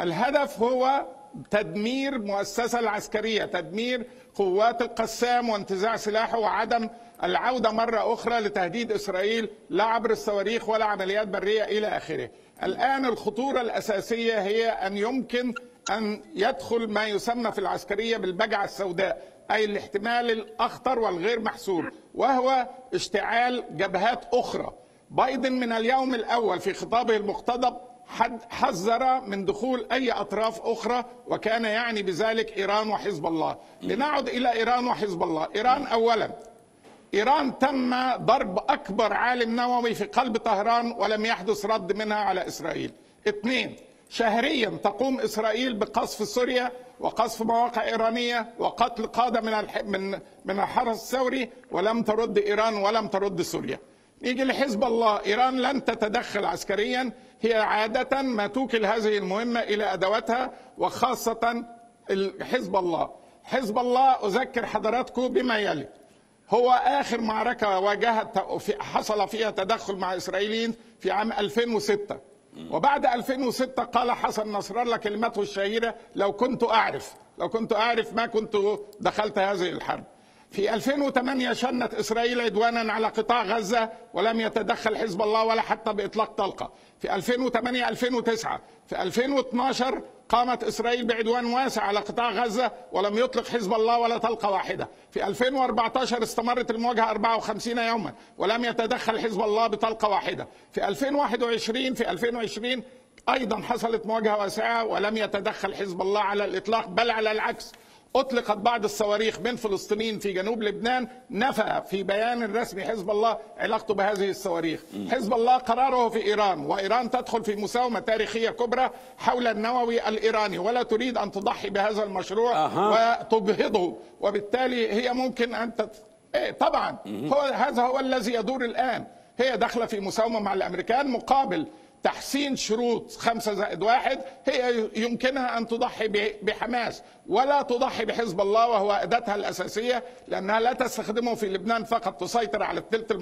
الهدف هو تدمير المؤسسة العسكرية، تدمير قوات القسام وانتزاع سلاحه وعدم العودة مرة أخرى لتهديد إسرائيل لا عبر الصواريخ ولا عمليات برية إلى آخره. الآن الخطورة الأساسية هي أن يمكن أن يدخل ما يسمى في العسكرية بالبجعة السوداء، أي الاحتمال الأخطر والغير محسوب، وهو اشتعال جبهات أخرى. بايدن من اليوم الأول في خطابه المقتضب حذر من دخول أي أطراف أخرى، وكان يعني بذلك إيران وحزب الله. لنعد إلى إيران وحزب الله. إيران أولا، إيران تم ضرب أكبر عالم نووي في قلب طهران ولم يحدث رد منها على إسرائيل. اثنين، شهريا تقوم إسرائيل بقصف سوريا وقصف مواقع إيرانية وقتل قادة من الحرس الثوري، ولم ترد إيران ولم ترد سوريا. نيجي لحزب الله. إيران لن تتدخل عسكريا، هي عادة ما توكل هذه المهمة إلى أدواتها، وخاصة حزب الله. حزب الله أذكر حضراتكم بما يلي: هو آخر معركة واجهت حصل فيها تدخل مع إسرائيليين في عام 2006، وبعد 2006 قال حسن نصر الله كلمته الشهيرة: لو كنت أعرف ما كنت دخلت هذه الحرب. في 2008 شنت إسرائيل عدوانا على قطاع غزة ولم يتدخل حزب الله ولا حتى بإطلاق طلقة. في 2008 2009 في 2012 قامت إسرائيل بعدوان واسع على قطاع غزة ولم يطلق حزب الله ولا طلقة واحدة. في 2014 استمرت المواجهة 54 يوما ولم يتدخل حزب الله بطلقة واحدة. في 2020 أيضا حصلت مواجهة واسعة ولم يتدخل حزب الله على الإطلاق، بل على العكس، أطلقت بعض الصواريخ من فلسطينيين في جنوب لبنان. نفى في بيان رسمي حزب الله علاقته بهذه الصواريخ. حزب الله قراره في إيران، وإيران تدخل في مساومة تاريخية كبرى حول النووي الإيراني، ولا تريد أن تضحي بهذا المشروع وتجهضه، وبالتالي هي ممكن أن طبعا هذا هو الذي يدور الآن. هي داخلة في مساومة مع الأمريكان مقابل تحسين شروط 5+1. هي يمكنها أن تضحي بحماس ولا تضحي بحزب الله، وهو أداتها الأساسية، لأنها لا تستخدمه في لبنان فقط تسيطر على الثلث